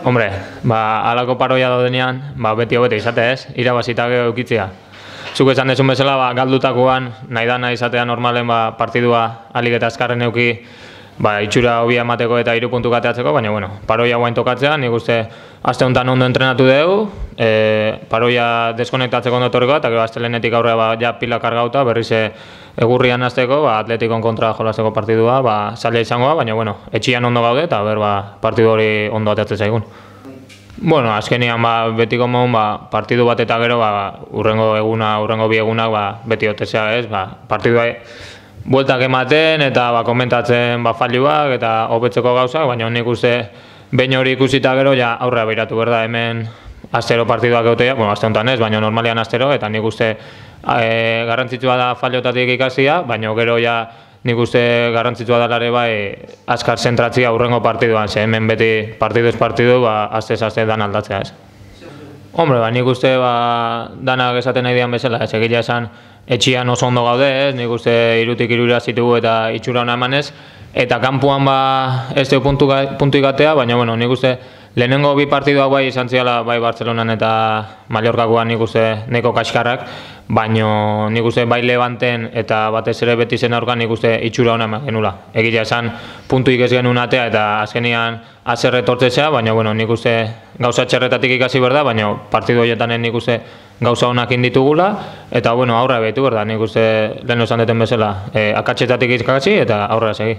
Hombre, alako paroia daudenean, beti hobete izate ez, irabazita gero eukitzea. Zuk esan dezun bezala, galdutakoan, nahi da nahi izatea normalen partidua alik eta azkarren euki itxura hobia emateko eta 3 puntu kateatzeko, baina paroia guain tokatzea, nik uste aste honetan ondo entrenatu dugu, paroia deskonektatzeko ondo etorriko, eta gero astelehenetik aurrera ja pila kargauta, berriz egurrian hasteko, Atletikon kontra jolasteko partidua, zaila izangoa, baina etxian ondo gaude, eta partidu hori ondo ateatzen zaigun. Azkenian betiko modun partidu bat eta gero urrengo bi egunak beti otezea ez, partidua bueltak ematen eta komentatzen failuak eta hobetzeko gauzak, baina nik uste behin hori ikusita gero aurrera behiratu berda hemen astero partiduak egotea, aste honetan ez, baina normalian astero, eta nik uste garrantzitsua da failotatik ikasia, baina gero nik uste garrantzitsua da ere azkar zentratzia urrengo partiduan, ze hemen beti partiduz partidu, astez dan aldatzea ez. Hombre, nik uste danak esaten nahi dian bezala, ez egitea esan etxian oso ondo gaude ez, nik uste 3tik 3 zitugu eta itxura hona emanez, eta kanpuan ez dugu puntu ikatea, baina nik uste lehenengo bi partidua izan ziala Bartzelonan eta Mallorcakoan nik uste neko kaskarrak, baina nik uste Levanten eta batez ere Betisen aurkan nik uste itxura hona eman genula. Egitea esan puntuik ez genuen atea eta azkenian azerre tortzea, baina nik uste gauza txerretatik ikasi berda, baina partidu horietan nik uste gauza honak inditugula, eta aurra behitu berda, nik uste lehen esan deten bezala, akatxetatik ikasi eta aurrera segi.